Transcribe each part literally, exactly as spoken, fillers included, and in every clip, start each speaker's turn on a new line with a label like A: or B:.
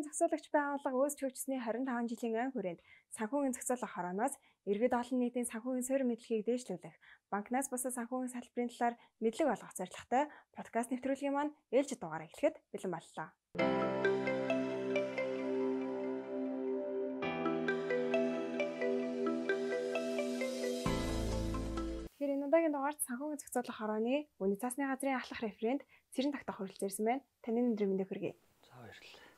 A: санхүүгийн зохицуулагч байгууллага өөсч хөгжсөний харин таван жилийн ан хүрээнд санхүүгийн зохицуулах хорооноос иргэд олон нийтийн санхүүгийн суурь мэдлэгийг дээшлүүлэх, банкнаас бусад санхүүгийн салбарын талаар мэдлэг олгох зорилготой подкаст нэвтрүүлгийн маань ээлжид дугаараа эхлэхэд бэлэн боллоо. Тэгэхээр энэ удаагийн дугаарт санхүүгийн зохицуулах хорооны үнэ цаасны газрын ахлах референт Цэрэн Тогтох хүрэлцэн ирсэн байна. Таны өнөөдрийн мэндийг хүргэе.
B: За баярлалаа.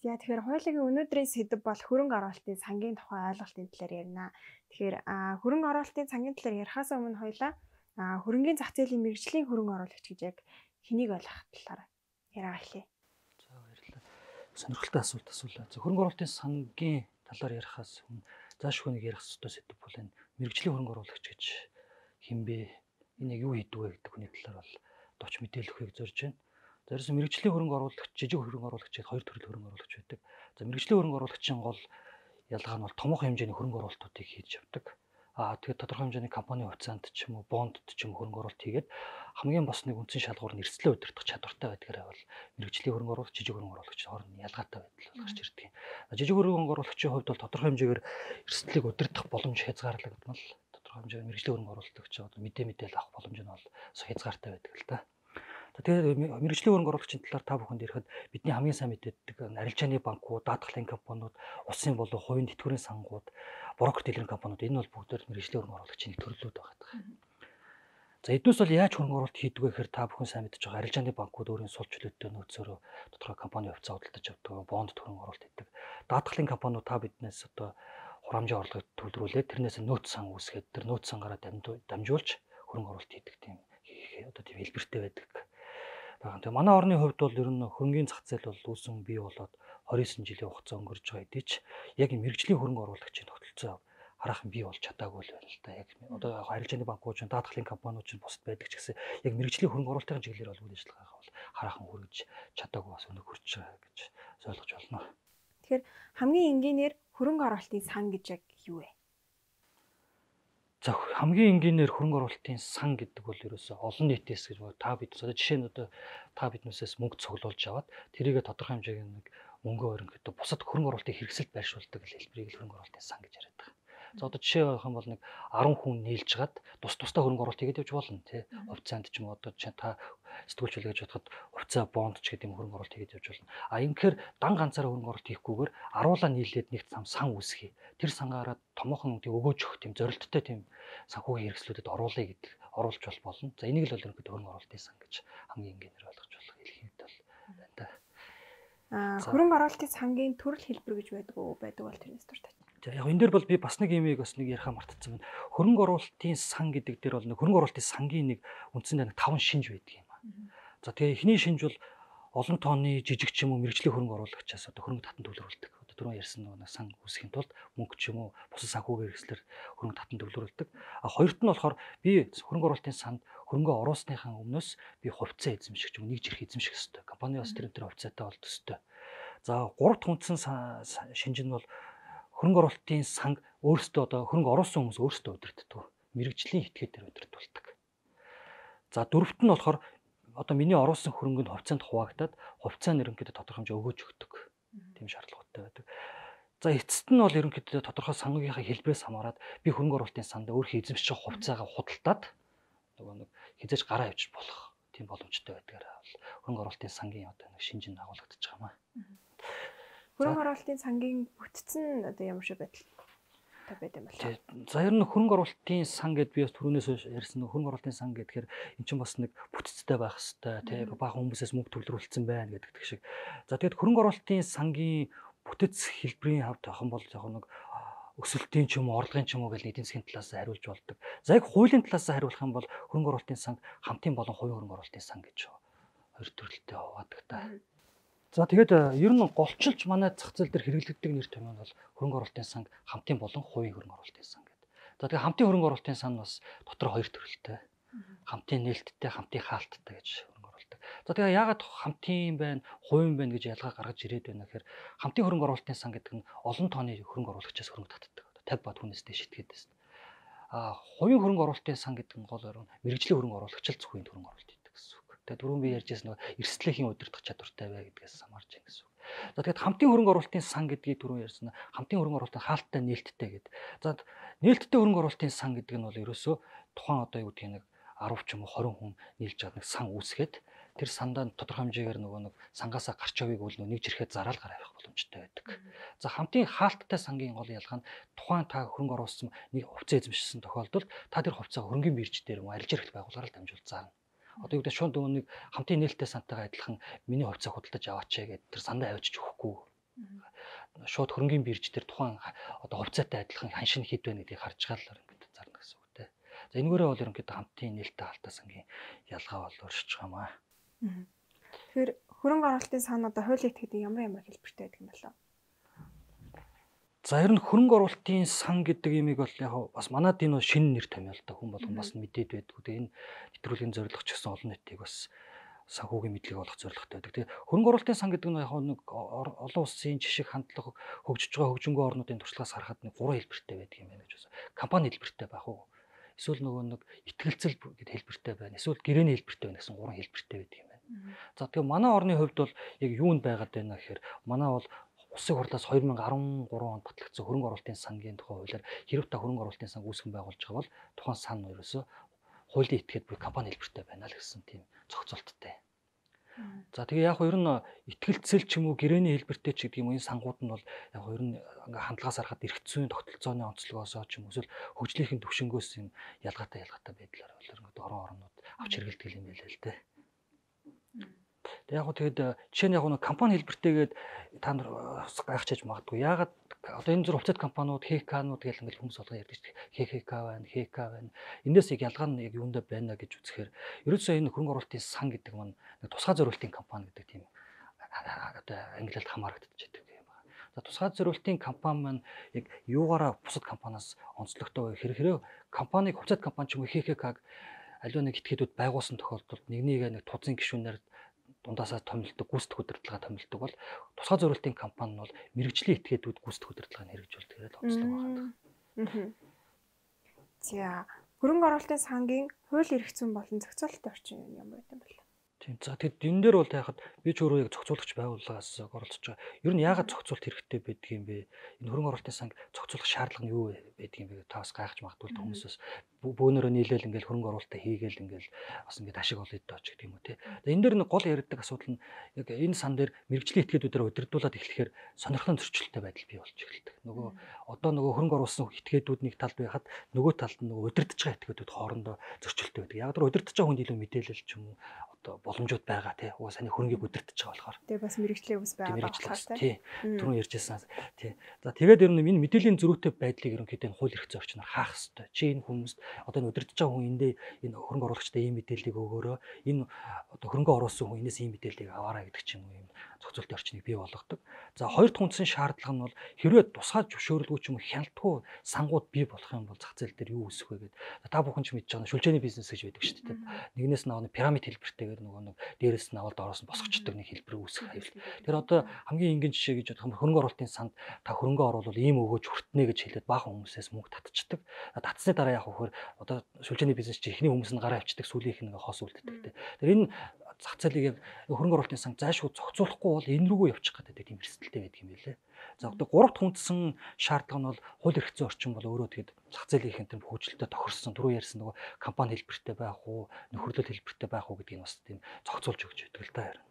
A: За тэгэхээр хуулийн өнөөдрийн сэдэв бол хөрөнгө оруулалтын сангийн тухай ойлголтын талаар ярина. Тэгэхээр хөрөнгө оруулалтын сангийн талаар ярихаас өмнө хоёлаа хөрөнгөний зах зээлийн мэргэжлийн хөрөнгө оруулагч гэж яг хэнийг ойлгох талаар яриа эхлэе.
B: За баярлалаа. Сонирхолтой асуулт асуулаа. За хөрөнгө оруулалтын сангийн талаар ярихаас өмнө зааш хүнийг ярих ёстой сэдэв бол энэ мэргэжлийн хөрөнгө оруулагч гэж хинбэ? Энэ яг юу хийдэг вэ гэдэг хүний талаар бол товч мэдээлэл өгөхийг зорж байна. За ерөөсөн мэргэжлийн хөрөнгө оруулагч, жижиг хөрөнгө оруулагч гэдэг хоёр төрлийн хөрөнгө оруулагч байдаг. За мэргэжлийн хөрөнгө оруулагчийн гол ялгаа нь бол томоохон хэмжээний хөрөнгө оруулалтуудыг хийж явдаг. Аа тэгээд тодорхой хэмжээний компани хувьцаанд ч юм уу, бондд ч юм уу хөрөнгө оруулалт хийгээд хамгийн бас нэг үндсэн шалгуур нь эрсдлээ удирдах чадвартай байдгаараа бол мэргэжлийн хөрөнгө оруулагч, жижиг хөрөнгө оруулагчийн хооронд ялгаатай байдал бол гарч ирдэг юм. Жижиг хөрөнгө оруулагчийн хувьд бол тодорхой хэмжээгээр эрсдлийг удирдах боломж хязгаарлагдмал. Тодорхой хэмжээгээр мэргэжлийн хөрөнгө оруулагч одоо мэдээ мэдээлэл авах боломж нь бол хязгаартай байдаг л та. Тэгээд мэргэжлийн хөрөнгө оруулагчийн талаар та бүхэнд ирэхэд бидний хамгийн сайн мэддэг арилжааны банкуд, даатгалын компаниуд, улсын болон хувийн тэтгэврийн сангууд, брокер дэлгэрэнт компаниуд энэ бол бүгд мэргэжлийн хөрөнгө оруулагчийн төрлүүд байгаа. За эднээс бол яаж хөрөнгө оруулалт хийдэг вэ гэхээр та бүхэн сайн мэдж байгаа арилжааны банкуд өөрийн сул чөлөөтэй нөөцөөрөө тодорхой компани хувьцаа худалдаж авдаг, бонд хөрөнгө оруулалт хийдэг. Даатгалын компаниуд та биднээс одоо хурамжийн орлогыг төвлөрүүлээд тэрнээс нөөц сан үүсгээд тэр нөөц сангаараа дамжуулж хөрөнгө оруулалт хийдэг тийм одоо тийм хэлбэртэй байдаг. Тэгээ манай орны хувьд бол ер нь хөрөнгөний зах зээл бол үүсэн бий болоод двадцать девять жилийн хугацаа өнгөрч байгаа хэдий ч яг мэргэжлийн хөрөнгө оруулагчийн тогтолцоо хараахан бий болж чадаагүй л байна л да. Яг одоо арилжааны банкуд ч, даатгалын компаниуд ч бусад байдаг ч гэсэн яг мэргэжлийн хөрөнгө оруулалтын чиглэлээр бол үйл ажиллагаагаа бол хараахан хүргэж чадаагүй бас өнөг хүрч байгаа гэж ойлгож байна.
A: Тэгэхээр хамгийн энгийнээр хөрөнгө оруулалтын сан гэж яг юу вэ?
B: За хамгийн энгийнээр хөрөнгө оруулалтын сан гэдэг бол ерөөсөө олон нийтээс гэж та бид одоо жишээ нь одоо та биднээсээс мөнгө цуглуулж аваад тэрийгэ тодорхой хэмжээний нэг мөнгө өрөнгөд бусад хөрөнгө оруулалтын хэрэгсэлд байршуулдаг хэлбэрийг л хөрөнгө оруулалтын сан гэж яриад байгаа. За одоо жишээ авах юм бол нэг арван хүн нийлж гад тус тустай хөрөнгө оруулалт хийгээд явж болно тий. Хувьцаанд ч юм уу одоо жишээ та сэтгүүлч үлээж бодоход хувьцаа бонд ч гэдэг юм хөрөнгө оруулалт хийгээд явж болно. А ингэхээр дан ганцаараа хөрөнгө оруулалт хийхгүйгээр аруулаа нийлээд нэг зам сан үүсгэе. Тэр сангаараа томоохон тийм өгөөж өгөх тийм зорилттой тийм санхүүгийн хэрэгслүүдэд оруулъя гэдэг оруулж бол болно. За энийг л бол ерөнхийдөө хөрөнгө оруулалтын сан гэж хамгийн энгийнээр ойлгож болох хэлхийд бол байна да.
A: Аа хөрөнгө оруулалтын сангийн төрөл хэлбэр гэж байдаг уу байдаг бол тэрнээс дуртай.
B: За яг энэ дээр бол би бас нэг юмыг бас нэг ярихаа мартацсан байна. Хөрөнгө оруулалтын сан гэдэг дээр бол нэг хөрөнгө оруулалтын сангийн нэг үндсэндээ нэг таван шинж байдаг юм аа. За тэгээ эхний шинж бол олон тооны жижиг ч юм уу мэргэжлийн хөрөнгө оруулагчаас одоо хөрөнгө татан төвлөрүүлдэг. Одоо түрүүн ярьсан нэг сан үүсгэхийн тулд мөнгө ч юм уу бусад санхүүгийн хэрэгслэр хөрөнгө татан төвлөрүүлдэг. А хоёрт нь болохоор би хөрөнгө оруулалтын санд хөрөнгө оруулсныхаа өмнөөс би хувьцаа эзэмших ч юм уу нэг жирх эзэмших ёстой. Компани бас тэр тэр хувьцаатай болдог ёстой. За гуравт хүндсэн шинж нь бол хөрөнгө оруулалтын санг өөрсдөө одоо хөрөнгө оруулсан хүмүүс өөрсдөө удирддаг. Мэргэжлийн этгээдээр удирдуулдаг. За дөрөвт нь болохоор одоо миний оруулсан хөрөнгөнд хувьцаанд хуваагдаад хувьцаа нь ерөнхийдөө тодорхой хэмжээ өгөөж өгдөг. Тийм шаардлагатай байдаг. За эцэст нь бол ерөнхийдөө тодорхой санхүүгийнхаа хэлбэрээс хамаарат би хөрөнгө оруулалтын санд өөрийнхөө эзэмших хувьцаагаа худалдаад нөгөө нэг хязгаарч гараа авчиж болох тийм боломжтой байдгаараа бол хөрөнгө оруулалтын сангийн одоо нэг шинж нь агуулгадж байгаа юм аа.
A: Хөрөнгө оруулалтын сангийн бүтцэн одоо ямар шиг байдал та байд юм бэ?
B: За ер нь хөрөнгө оруулалтын сан гэдээ би бас түрүүнээс ярьсан нэг хөрөнгө оруулалтын сан гэхээр эн чинь бас нэг бүтцтэй байх хэвээр тий бага хүмүүсээс мөнгө төвлөрүүлсэн байна гэдэг шиг. За тэгээд хөрөнгө оруулалтын сангийн бүтэц хэлбэрийн хавьд авах юм бол яг нэг өсөлтийн ч юм уу орлогын ч юм уу гэж эдийн засгийн талаас хариулж болдог. За яг хуулийн талаас хариулах юм бол хөрөнгө оруулалтын санг хамтын болон хувийн хөрөнгө оруулалтын сан гэж хоёр төрөлтэй хуваадаг та. За тэгээд ер нь голчилж манай зах зээл дээр хэрэглэгддэг нэр томьёо бол хөрөнгө оруулалтын санг хамтын болон хувийн хөрөнгө оруулалтын сан гэдэг. За тэгээд хамтын хөрөнгө оруулалтын сан бас дотор хоёр төрөлтэй. Хамтын нээлттэй, хамтын хаалттай гэж хөрөнгө оруулалт. За тэгээд яагаад хамтын байна, хувийн байна гэж ялгаа гаргаж ирээд байна гэхээр хамтын хөрөнгө оруулалтын сан гэдэг нь олон тооны хөрөнгө оруулагчаас хөрөнгө татдаг. cinquanta бат хүнээс дэш итгээд байна. А хувийн хөрөнгө оруулалтын сан гэдэг нь гол орон мэргэжлийн хөрөнгө оруулагчил зөвхөн хөрөнгө оруулалт гэдэг гэсэн үг. Тэгээд түрүүн би ярьжсэн нөгөө эрсдлийнхэн удирдах чадвартай бай гэдгээс хамаарч байна гэсэн үг. За тэгээд хамтын хөрөнгө оруулалтын сан гэдгийг түрүү ярьсан. Хамтын хөрөнгө оруулалтын хаалттай нээлттэй гэдэг. За нээлттэй хөрөнгө оруулалтын сан гэдэг нь бол ерөөсөө тухайн одоо юу гэдэг нэг десять ч юм уу двадцать хүн нийлж чад нэг сан үүсгээд тэр сандаа тодорхой хэмжээгээр нөгөө нэг сангаасаа гарч явыг бол нэг жирхэд зараал гараа явах боломжтой байдаг. За хамтын хаалттай сангийн гол ялгаа нь тухайн та хөрөнгө оруулсан нэг хувьцаа эзэмшсэн тохиолдолд та тэр хувьцаа хөрөнгөний бирж дээр юм арилж ирэх байгууллагаар л дамжуул заана. Одоо юу гэдэг шууд нөгөө нэг хамтын нээлттэй сантайгаа адилхан миний хувьцаа худалдаж аваач гэдэг тэр сандаа авчиж өгөхгүй. Шууд хөрөнгөний бирж дээр тухайн одоо хувьцаатай адилхан ханшин хэд байна гэдгийг харж гаалаар ингээд зарна гэсэн үг те. За энэгээрээ бол ерөнхийдөө хамтын нээлттэй хаалттай сангийн ялгаа бол өршиж байгаа маа.
A: Тэгэхээр хөрөнгө оруулалтын сан одоо хуулийн этгээдийн ямар ямар хэлбэртэй байдаг юм болов?
B: За ер нь хөрөнгө оруулалтын сан гэдэг имийг бол яг бас манад энэ шинэ нэр томьёо л да хүн болгон бас мэдээд байдгүй. Тэгээ энэ нэвтрүүлгийн зорилго ч гэсэн олон нийтийг бас санхүүгийн мэдлэг олох зорилготой байдаг. Тэгээ хөрөнгө оруулалтын сан гэдэг нь яг нэг олон улсын жишг хандлага хөгжиж байгаа хөгжингөө орнуудын туршлагаас харахад нэг гурван хэлбэртэй байдаг юм байна гэж байна. Компани хэлбэртэй байх уу? Эсвэл нөгөө нэг итгэлцэл гэдэг хэлбэртэй байна. Эсвэл гэрээний хэлбэртэй байна гэсэн гурван хэлбэртэй байдаг юм байна. За тэгээ манай орны хувьд бол яг юунд байгаад байна гэхээр манай бол Улсын хурлаас two thousand thirteen онд батлагдсан хөрөнгө оруулалтын сангийн тухай хуулиар хэрэг та хөрөнгө оруулалтын сан үүсгэн байгуулж байгаа бол тухайн сан ерөөсөө хуулийн этгээд буй компани хэлбэртэй байна л гэсэн тийм зохицуулттай. За тэгээ яг ер нь итгэлцэл ч юм уу гэрээний хэлбэртэй ч гэдэг юм уу энэ сангууд нь бол яг ер нь ингээ хандлагаас харахад эрх зүйн тогтолцооны онцлогоос ч юм уу эсвэл хөгжлийнхэн төвшнгөөс юм ялгаатай ялгаатай байдлаар бол ерөнхийдөө орон орнууд авч хэрэглэдэг юм байл л дээ. Тэг яг гоо тэгэд жишээ нь яг нэг компани хэлбэртэйгээд та нар гайхчихж магадгүй. Яагаад одоо энэ зур хувьцат компаниуд, ХК-нууд гэл ингээл хүмүүс болгоо ярьдаг шүү дээ. ХХК байна, ХК байна. Эндээс яг ялгаа нь яг юундаа байна гэж үзэхээр ерөөсөө энэ хөрөнгө оруулалтын сан гэдэг маань нэг тусгай зориултын компани гэдэг тийм одоо англиад хамаарагдчихж байдаг юм байна. За тусгай зориултын компани маань яг юугаараа бусад компаниас онцлогтой вэ? Хэрэг компаниг хувьцат компани ч юм уу ХХК-г аливаа нэг этгээдүүд байгуулсан тохиолдолд нэг нэгэ нэг тузын гишүүнээр дундаасаа томилдог, гүйцэтгэх удирдлага томилдог бол тусгай зориултын компани нь бол мэрэгжлийн этгээдүүд гүйцэтгэх удирдлагыг хэрэгжүүлдэг гэдэг онцлог байна.
A: За хөрөнгө оруулалтын сангийн хууль эрх зүйн болон зохицуулалтын орчин юм ямар байсан бэ?
B: Тийм. За тэгэд энэ дээр бол яхад би ч өөрөө яг зохицуулагч байгууллагаас оролцож байгаа. Ер нь яагаад зохицуулалт хэрэгтэй байдаг юм бэ? Энэ хөрөнгө оруулалтын санг зохицуулах шаардлага нь юу байдаг юм бэ? Та бас гайхаж магадгүй л хүмүүсээс бөөнөрөө нийлээл ингээл хөрөнгө оруулалтаа хийгээл ингээл бас ингээд ашиг олъё доо ч гэдэг юм уу те. Тэгээ энэ дээр нэг гол яригддаг асуудал нь яг энэ сан дээр мэрэгжлийн этгээдүүдээр удирдуулаад эхлэхээр сонирхлын зөрчилтэй байдал бий болж эхэлдэг. Нөгөө одоо нөгөө хөрөнгө оруулсан этгээдүүд нэг талд байхад нөгөө талд нь нөгөө удирдах байгаа этгээдүүд хоорондоо зөрчилтэй байдаг. Яг тэр удирдах байгаа хүнд илүү мэдээлэл ч юм уу одоо боломжууд байгаа тий. Угаа саний хөрөнгийг удирдах байгаа болохоор.
A: Тэгээ бас мэрэгжлийн ус байгаа болохоор
B: тий. Түрүүн ярьжсэн тий. За тэгээд ер нь энэ мэдээллийн зөрүүтэй байдлыг ерөнхийдөө хууль эрх зүйн орчноор хаах хэрэгтэй. Чи энэ хүмүүст одоо энэ удирдах байгаа хүн эндээ энэ хөрөнгө оруулагчтай ийм мэдээллийг өгөөрөө энэ одоо хөрөнгө оруулсан хүн энэс ийм мэдээллийг аваарай гэдэг ч юм уу юм зохицуулалтын орчныг бий болгодог. За хоёр дахь үндсэн шаардлага нь бол хэрвээ тусгай зөвшөөрлгүй ч юм уу хяналтгүй сангууд бий болох юм бол зах зээл дээр юу үүсэх вэ гэдэг. Та бүхэн ч мэдж байгаа шүлжээний бизнес гэж байдаг шүү дээ. Нэгнээс нь авах пирамид хэлбэртэйгээр нөгөө нэг дээрээс нь авалд ороос нь босгочдөг нэг хэлбэр үүсэх аюул. Тэр одоо хамгийн энгийн жишээ гэж бодох юм хөрөнгө оруулалтын санд та хөрөнгө оруулал ийм өгөөж хүртнэ гэж хэлээд баахан хүмүүсээс мөнгө татчихдаг. Татсны дараа яг хөхөр одоо шүлжээний бизнес чи эхний хүмүүс нь гараа авчдаг, сүүлийнх нь хоос үлддэг. Тэр энэ зах зээлийг хөрөнгө оруулалтын сан заашгүй зохицуулахгүй бол энэ рүүгээ явчих гэдэг тийм эрсдэлтэй байдаг юм билээ. За одоо гурав дахь үндсэн шаардлага нь бол хууль эрх зүйн орчин бол өөрөө тэгээд зах зээлийн хэмтэн хөгжилтэй тохирсон түрүү ярьсан нөгөө компани хэлбэртэй байх уу, нөхөрлөл хэлбэртэй байх уу гэдгийг бас тийм зохицуулж өгч байдаг л да харин.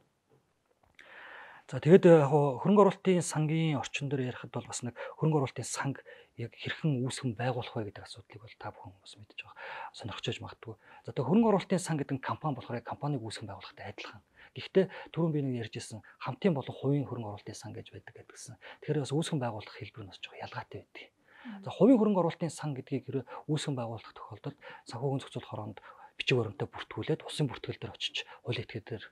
B: За тэгээд яг хөрөнгө оруулалтын сангийн орчин дээр ярихад бол бас нэг хөрөнгө оруулалтын санг яг хэрхэн үүсгэн байгуулах вэ гэдэг асуудлыг бол та бүхэн бас мэдж байгаа. Сонирхож магадгүй. За тэгээд хөрөнгө оруулалтын сан гэдэг нь компани болохоор компаниг үүсгэн байгуулахтай адилхан. Гэхдээ түрүүн би нэг ярьжсэн хамтын болон хувийн хөрөнгө оруулалтын сан гэж байдаг гэдгсэн. Тэгэхээр бас үүсгэн байгуулах хэлбэр нь бас жоо ялгаатай байдаг. За хувийн хөрөнгө оруулалтын сан гэдгийг хэрэг үүсгэн байгуулах тохиолдолд санхүүгийн зохицуулах оронд бичиг баримтаа бүртгүүлээд улсын бүртгэл дээр очиж хууль этгээдээр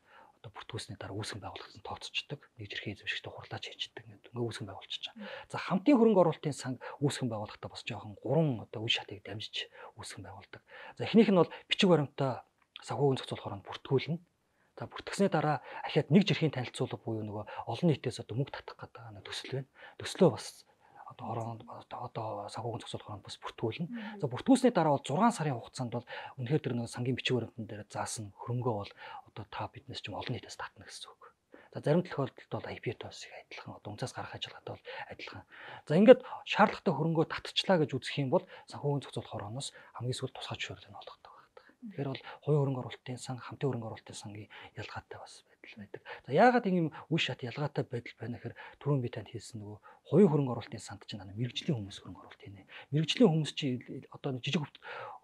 B: одоо бүртгүүлсний дараа үүсгэн байгуулалтанд тооцогддог. Нэг жирхэнэ эзэмшигчтэй хурлаач хийждэг гэдэг. Ингээ үүсгэн байгуулчихж байгаа. За хамтын хөрөнгө оруулалтын сан үүсгэн байгуулахдаа бас жоохон гурван одоо үе шатыг дамжиж үүсгэн байгуулдаг. За эхнийх нь бол бичиг баримтаа санхүүгийн зохицуулах оронд бүртгүүлнэ. За бүртгэсний дараа ахиад нэг жирхэнэ танилцуулга буюу нөгөө олон нийтээс одоо мөнгө татах гэдэг нэг төсөл байна. Төслөө бас одоо ороонд одоо санхүүгийн зохицуулах оронд бас бүртгүүлнэ. За бүртгүүлсний дараа бол зургаан сарын хугацаанд бол үнэхээр тэр нэг сангийн бичиг баримтан дээр заасан хөрөнгөө бол одоо та биднес ч юм олон нийтээс татна гэсэн үг. За зарим тохиолдолд бол ай пи о-с их адилхан одоо унцаас гарах ажиллагаатай бол адилхан. За ингээд шаардлагатай хөрөнгөө татчихлаа гэж үзэх юм бол санхүүгийн зохицуулах хорооноос хамгийн сүүл тусгай зөвшөөрлийг олгодог байдаг. Тэгэхээр бол хувийн хөрөнгө оруулалтын сан, хамтын хөрөнгө оруулалтын сангийн ялгаатай бас байдал байдаг. За яагаад ийм үе шат ялгаатай байдал байна гэхээр түрүүн би танд хэлсэн нөгөө хувийн хөрөнгө оруулалтын санд чинь мэрэгжлийн хүмүүс хөрөнгө оруулалт хийнэ. Мэрэгжлийн хүмүүс чи одоо жижиг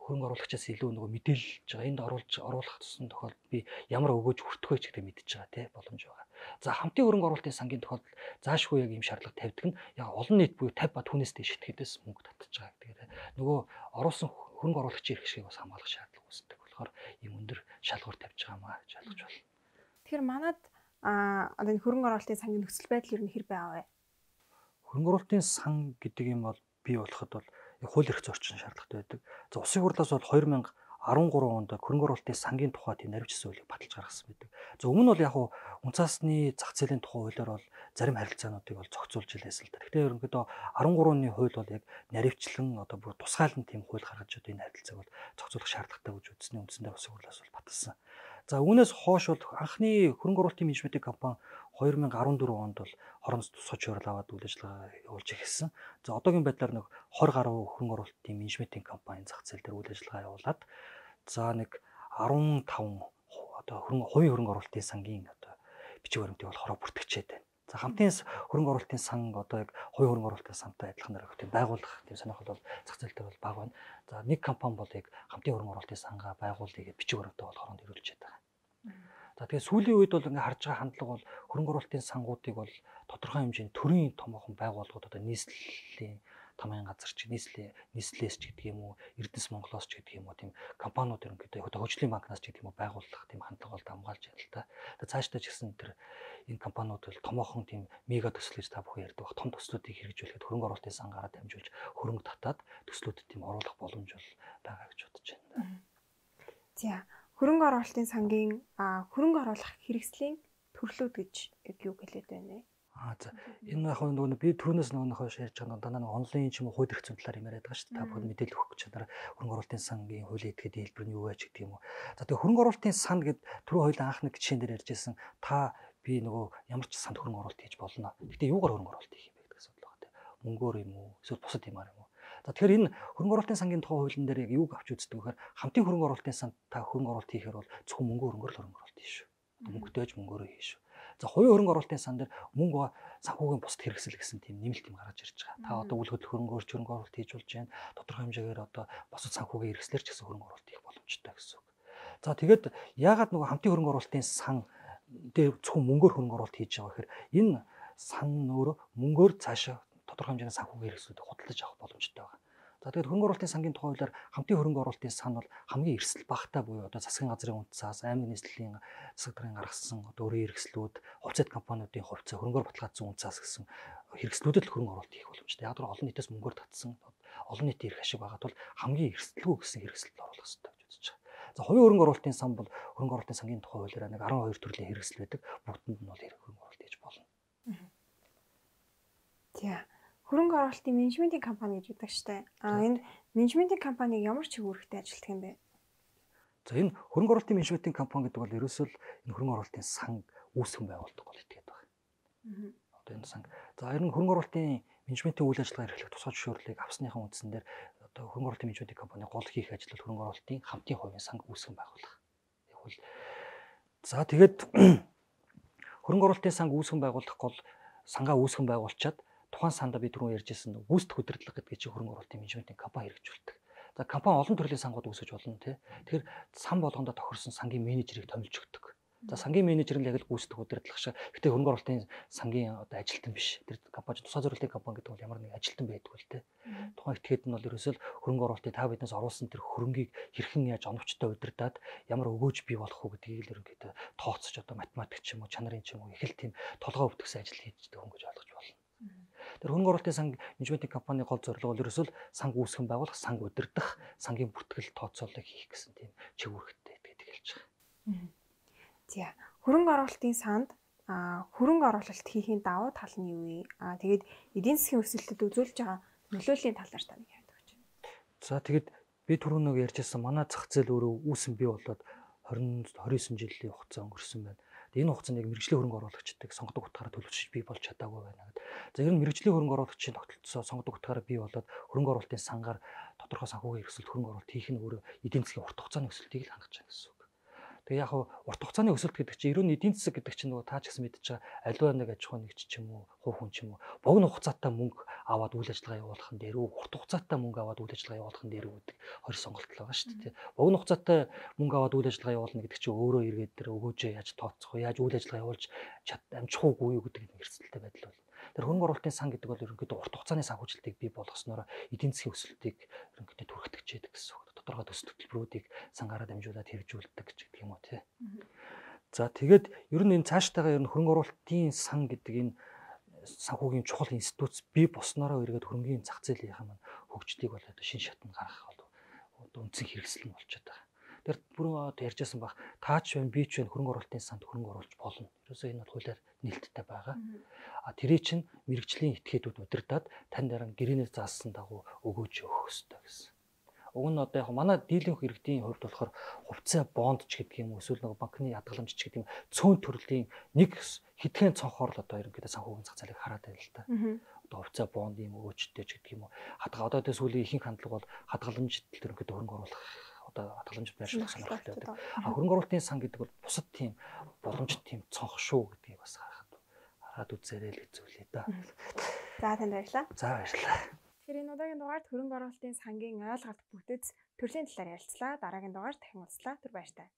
B: хөрөнгө оруулагчаас илүү нөгөө мэдээлж байгаа. Энд оруулж оруулах тусан тохиолдолд би ямар өгөөж хүртэх вэ ч гэдэг мэдчихэж байгаа тий боломж байгаа. За хамтын хөрөнгө оруулалтын сангийн тохиолдолд заашгүй яг ийм шаардлага тавьдаг нь яг олон нийт буюу тавь ба түүнээс дэш итгэдээс мөнгө татчих байгаа гэдэг. Нөгөө оруулсан хөрөнгө оруулагчийн эрх ашигыг бас хамгаалах шаардлага үүсдэг болохоор ийм өндөр шалгуур тавьж байгаа маа гэж ойлгож байна.
A: Тэгэхээр манад а одоо энэ хөрөнгө оруулалтын сангийн нөхцөл байдал ер нь хэр байв вэ?
B: Хөрөнгө оруулалтын сан гэдэг юм бол бий болоход бол хууль эрх зорчин шаардлагатай байдаг. За улсын хурлаас бол две тысячи арван гурав онд хөрөнгө оруулалтын сангийн тухай тийм наривчсан хуулийг баталж гаргасан байдаг. За өмнө нь бол яг хуу унцаасны зах зээлийн тухай хуулиар бол зарим харилцаануудыг бол зохицуулж илээс л да. Гэхдээ ерөнхийдөө арван гурав оны хууль бол яг наривчлан одоо бүр тусгаалan тийм хууль гаргаж одоо энэ харилцааг бол зохицуулах шаардлагатай гэж үзсний үндсэндээ улсын хурлаас бол баталсан. За үүнээс хойш бол анхны хөрөнгө оруулалтын менежментийн компани две тысячи арван дөрөв онд бол хороноос тусгай зөвшөөрөл аваад үйл ажиллагаа явуулж эхэлсэн. За одоогийн байдлаар нэг twenty гаруй хөрөнгө оруулалтын менежментийн компани зах зээл дээр үйл ажиллагаа явуулаад за нэг fifteen одоо хөрөнгө хувийн хөрөнгө оруулалтын сангийн одоо бичиг баримтыг бол хороо бүртгэжээд байна. За хамтын хөрөнгө оруулалтын сан одоо яг хувийн хөрөнгө оруулалтын сантай адилханаар их тийм байгуулах тийм сонирхол бол зах зээл дээр бол бага байна. За нэг компани бол яг хамтын хөрөнгө оруулалтын сангаа байгуулъя гэж бичиг баримтаа бол хоронд ирүүлжээд байгаа. За тэгээ сүүлийн үед бол ингээ харж байгаа хандлага бол хөрөнгө оруулалтын сангуудыг бол тодорхой хэмжээний төрийн томоохон байгууллагууд одоо нийслэлийн тамийн газар ч нийслэлийн нийслэлээс ч гэдэг юм уу Эрдэнэс Монголоос ч гэдэг юм уу тийм компаниуд ерөнхийдөө одоо хөгжлийн банкнаас ч гэдэг юм уу байгуулах тийм хандлага бол хамгаалж байна л та. Тэгээ цаашдаа ч гэсэн тэр энэ компаниуд бол томоохон тийм мега төсөл гэж та бүхэн ярьдаг баг том төслүүдийг хэрэгжүүлэхэд хөрөнгө оруулалтын сангаараа дамжуулж хөрөнгө татаад төслүүдэд тийм оруулах боломж бол байгаа гэж бодож байна.
A: За хөрөнгө оруулалтын сангийн хөрөнгө оруулах хэрэгслийн төрлүүд гэж юу хэлээд байна вэ?
B: Аа за энэ яг нөгөө би түрүүнээс нөгөө хойш ярьж байгаа дандаа нэг онлайн ч юм уу хууль эрх зүйн талаар юм яриад байгаа шүү дээ. Та бүхэн мэдээлэл өгөх гэж чадаар хөрөнгө оруулалтын сангийн хуулийн этгээд хэлбэр нь юу вэ гэдэг юм уу. За тэгээ хөрөнгө оруулалтын сан гэд түрүү хоёул анх нэг жишээн дээр ярьж байсан. Та би нөгөө ямар ч санд хөрөнгө оруулалт хийж болно. Гэтэ юугаар хөрөнгө оруулалт хийх юм бэ гэдэг асуудал байгаа тийм. Мөнгөөр юм уу? Эсвэл бусад юмар юм уу? За тэгэхээр энэ хөрөнгө оруулалтын сангийн тухай хуулийн дээр яг юуг авч үздэг вэхээр хамтын хөрөнгө оруулалтын санд та хөрөнгө оруулалт хийхээр бол зөвхөн мөнгө хөрөнгөөр л хөрөнгө оруулалт хийш шүү. Мөнгөтэйж мөнгөөрөө хийш шүү. За хувийн хөрөнгө оруулалтын сан дээр мөнгө санхүүгийн бусад хэрэгсэл гэсэн тийм нэмэлт юм гаргаж ирж байгаа. Та одоо үйл хөдлөл хөрөнгөөр хөрөнгө оруулалт хийж болж байна. Тодорхой хэмжээгээр одоо бусад санхүүгийн хэрэгслэр ч гэсэн хөрөнгө оруулалт хийх боломжтой гэсэн үг. За тэгээд яагаад нөгөө хамтын хөрөнгө оруулалтын сан дээр зөвхөн мөнгөөр хөрөнгө оруулалт хийж байгаа гэхээр энэ сан өөрөө мөнгөөр цаашаа тодорхой хэмжээний санхүүгийн хэрэгслүүдийг худалдаж авах боломжтой байгаа. За тэгээд хөрөнгө оруулалтын сангийн тухай хуулиар хамтын хөрөнгө оруулалтын сан бол хамгийн эрсдэл багтаа буюу одоо засгийн газрын унцаас аймаг нийслэлийн засаг даргын гаргасан одоо өөрийн хэрэгслүүд хувьцаат компаниудын хувьцаа хөрөнгөөр баталгаажсан унцаас гэсэн хэрэгслүүдэд л хөрөнгө оруулалт хийх боломжтой. Яг л олон нийтээс мөнгөөр татсан олон нийтийн эрх ашиг байгаад бол хамгийн эрсдэлгүй гэсэн хэрэгсэлд оруулах хэрэгтэй гэж үзэж байгаа. За хувийн хөрөнгө оруулалтын сан бол хөрөнгө оруулалтын сангийн тухай хуулиар нэг twelve төрлийн хэрэгсэл байдаг. Бүгдэнд нь бол хөрөнгө оруулалт хийж болно.
A: За хөрөнгө оруулалтын менежментийн компани гэж үүдэг штэ. А энэ менежментийн компаниг ямар ч үүрэгтэй ажилтдаг юм бэ?
B: За энэ хөрөнгө оруулалтын менежментийн компани гэдэг бол ерөөсөө л энэ хөрөнгө оруулалтын сан үүсгэн байгуулдаг бол итгээд байгаа. Одоо энэ сан. За энэ хөрөнгө оруулалтын менежментийн үйл ажиллагаа эрхлэх тусгай зөвшөөрлийг авсныхаа үндсэн дээр одоо хөрөнгө оруулалтын менежментийн компани гол хийх ажил бол хөрөнгө оруулалтын хамтын хувийн сан үүсгэн байгуулах. Яг бол за тэгээд хөрөнгө оруулалтын сан үүсгэн байгуулах гол сангаа үүсгэн байгуулчаад тухайн санда би түрүү ярьжсэн гүйцэтгэх удирдлага гэдэг чинь хөрөнгө оруулалтын менежментийн компани хэрэгжүүлдэг. За компани олон төрлийн сангууд үүсгэж болно тий. Тэгэхээр сан болгондоо тохирсон сангийн менежерийг томилж өгдөг. За сангийн менежер нь яг л гүйцэтгэх удирдлага шиг. Гэтэ хөрөнгө оруулалтын сангийн одоо ажилтан биш. Тэр компани тусгай зорилтын компани гэдэг бол ямар нэг ажилтан байдаг л тий. Тухайн этгээд нь бол ерөөсөө л хөрөнгө оруулалтыг та биднээс оруулсан тэр хөрөнгийг хэрхэн яаж оновчтой удирдаад ямар өгөөж бий болох уу гэдгийг л ерөнхийдөө тооцож одоо математик ч юм уу чанарын ч юм уу их л тийм толгой өвтгсөн ажил хийдэг хүн гэж ойлгож байна. Тэр хөрөнгө оруулалтын сан менежментийн компани гол зорилго бол ерөөсөө санг үүсгэн байгуулах, санг удирдах, сангийн бүртгэл тооцоолыг хийх гэсэн тийм чиг үүрэгтэй гэдэг хэлж байгаа.
A: За хөрөнгө оруулалтын санд хөрөнгө оруулалт хийхийн давуу тал нь юу вэ? Аа тэгээд эдийн засгийн өсөлтөд үзүүлж байгаа нөлөөлийн талаар тань яриад өгч байна.
B: За тэгээд би түрүү нэг ярьжсэн манай зах зээл өөрөө үүсэн бий болоод twenty twenty-nine жилийн хугацаа өнгөрсөн байна. Тэгээ энэ хугацаанд яг мэрэгжлийн хөрөнгө оруулагчдыг сонгодог утгаараа төлөвшөж бий болж чадаагүй байна гэдэг. За ер нь мэрэгжлийн хөрөнгө оруулагчийн тогтолцоо сонгодог утгаараа бий болоод хөрөнгө оруулалтын сангаар тодорхой санхүүгийн эрсдэлт хөрөнгө оруулалт хийх нь өөрөө эдийн засгийн урт хугацааны өсөлтийг л хангаж байна гэсэн үг. Тэгээ яг урт хугацааны өсөлт гэдэг чинь ерөн эдийн засаг гэдэг чинь нөгөө таа ч гэсэн мэдчихэж байгаа аливаа нэг аж ахуйн нэгж ч юм уу хувь хүн ч юм уу богино хугацаатай мөнгө аваад үйл ажиллагаа явуулах нь дээр үү урт хугацаатай мөнгө аваад үйл ажиллагаа явуулах нь дээр үү гэдэг хоёр сонголт л байгаа шүү дээ. Богино хугацаатай мөнгө аваад үйл ажиллагаа явуулна гэдэг чинь өөрөө эргээд дээр өгөөжөө яаж тооцох вэ? Яаж үйл ажиллагаа явуулж амжих уугүй юу гэдэг нь эрсдэлтэй байдал бол. Тэр хөрөнгө оруулалтын сан гэдэг бол ерөнхийдөө урт хугацааны санхүүжилтийг бий болгосноор эдийн засгийн өсөлтийг ерөнхийдөө түргэтгэж яадаг гэсэн үг. Тодорхой төсөл хөтөлбөрүүдийг сангаараа дамжуулаад хэрэгжүүлдэг гэдэг юм уу тий. За тэгээд ер нь энэ цаашдаагаа ер нь хөрөнгө оруулалтын сан гэдэг энэ санхүүгийн чухал институт бий болсноороо эргээд хөрөнгөний зах зээлийн маань хөгжлийг бол одоо шин шатнд гаргах бол одоо үндсэн хэрэгсэл нь болчиход байгаа. Тэр бүрэн одоо ярьжсэн баг таач байна би ч байна хөрөнгө оруулалтын санд хөрөнгө оруулж болно. Ерөөсөө энэ бол хуулиар нээлттэй байгаа. А тэрий чинь мэрэгжлийн этгээдүүд удирдаад тань дараа гэрээнээр заасан дагуу өгөөж өгөх ёстой гэсэн. Уг нь одоо яг манай дийлэнх иргэдийн хувьд болохоор хувьцаа бонд ч гэдэг юм уу эсвэл нэг банкны ядгаламж ч гэдэг юм цөөн төрлийн нэг хэдхэн цонхоор л одоо ерөнхийдөө санхүүгийн зах зээлийг хараад байна л та. Одоо хувьцаа бонд юм өгөөжтэй ч гэдэг юм уу. Хадгалаа одоо тэ сүүлийн ихэнх хандлага бол хадгаламж ерөнхийдөө хөрөнгө оруулах одоо хадгаламж байршуулах сонирхолтой байдаг. А хөрөнгө оруулалтын сан гэдэг бол бусад тийм боломжит тийм цонх шүү гэдгийг бас харахад хараад үзээрэй л хэцүүлээ да.
A: За танд баярлалаа.
B: За баярлалаа.
A: Тэгэхээр энэ удаагийн дугаард хөрөнгө оруулалтын сангийн ойлголт бүтэц төрлийн талаар ярилцлаа. Дараагийн дугаар дахин уулзлаа. Түр баяр таа.